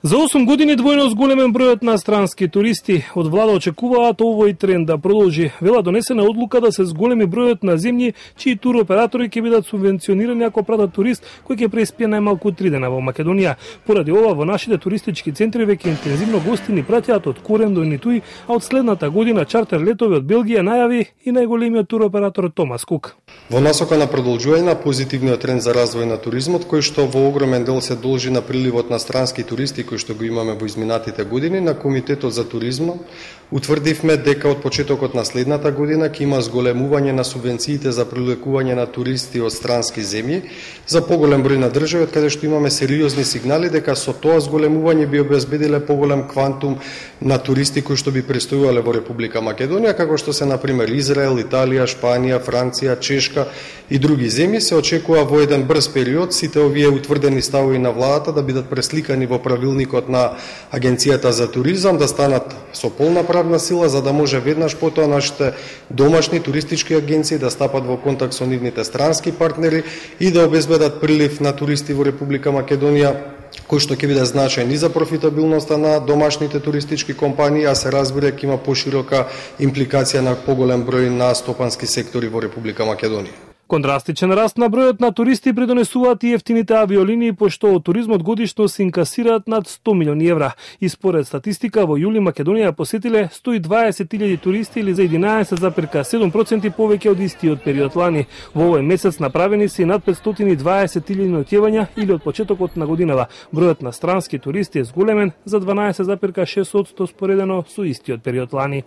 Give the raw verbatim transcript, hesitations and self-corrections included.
За осум години двојно зголемен бројот на странски туристи. Од влада очекуваат овој тренд да продолжи. Вела донесена одлука да се зголеми бројот на земји чии туроператори ќе бидат субвенционирани ако пратат турист кој ќе преспие најмалку три дена во Македонија. Поради ова во нашите туристички центри веќе интензивно гости ни праќаат од Корен до Нитуј, а од следната година чартер летови од Белгија најави и најголемиот туроператор Томас Кук. Во насока на продолжување на позитивниот тренд за развој на туризмот, кој што во огромен дел се должи на приливот на странски туристи кој што го имаме во изминатите години, на Комитетот за туризмот утврдивме дека од почетокот на следната година ќе има зголемување на субвенциите за привлекување на туристи од странски земји за поголем број на држави, од каде што имаме сериозни сигнали дека со тоа зголемување би обезбедиле поголем квантум на туристи кои што би престојувале во Република Македонија, како што се на пример Израел, Италија, Шпанија, Франција, Чешка и други земји. Се очекува во еден брз период сите овие утврдени ставови на владата да бидат пресликани во правилникот на Агенцијата за туризам, да станат со полна правна сила, за да може веднаш потоа нашите домашни туристички агенции да стапат во контакт со нивните странски партнери и да обезбедат прилив на туристи во Република Македонија, кој што ќе биде значајен и за профитабилноста на домашните туристички компании, а се разбира ќе има поширока импликација на поголем број на стопански сектори во Република Македонија. Кон драстичен раст на бројот на туристи придонесуваат и ефтините авиолинии, пошто од туризмот годишно се инкасираат над сто милиони евра. И според статистика во јули Македонија посетиле сто и дваесет илјади туристи или за единаесет зарез седум проценти повеќе од истиот период лани. Во овој месец направени се и над петстотини и дваесет илјади ноќевања или од почетокот на годинава. Бројот на странски туристи е зголемен за дванаесет зарез шест проценти споредено со истиот период лани.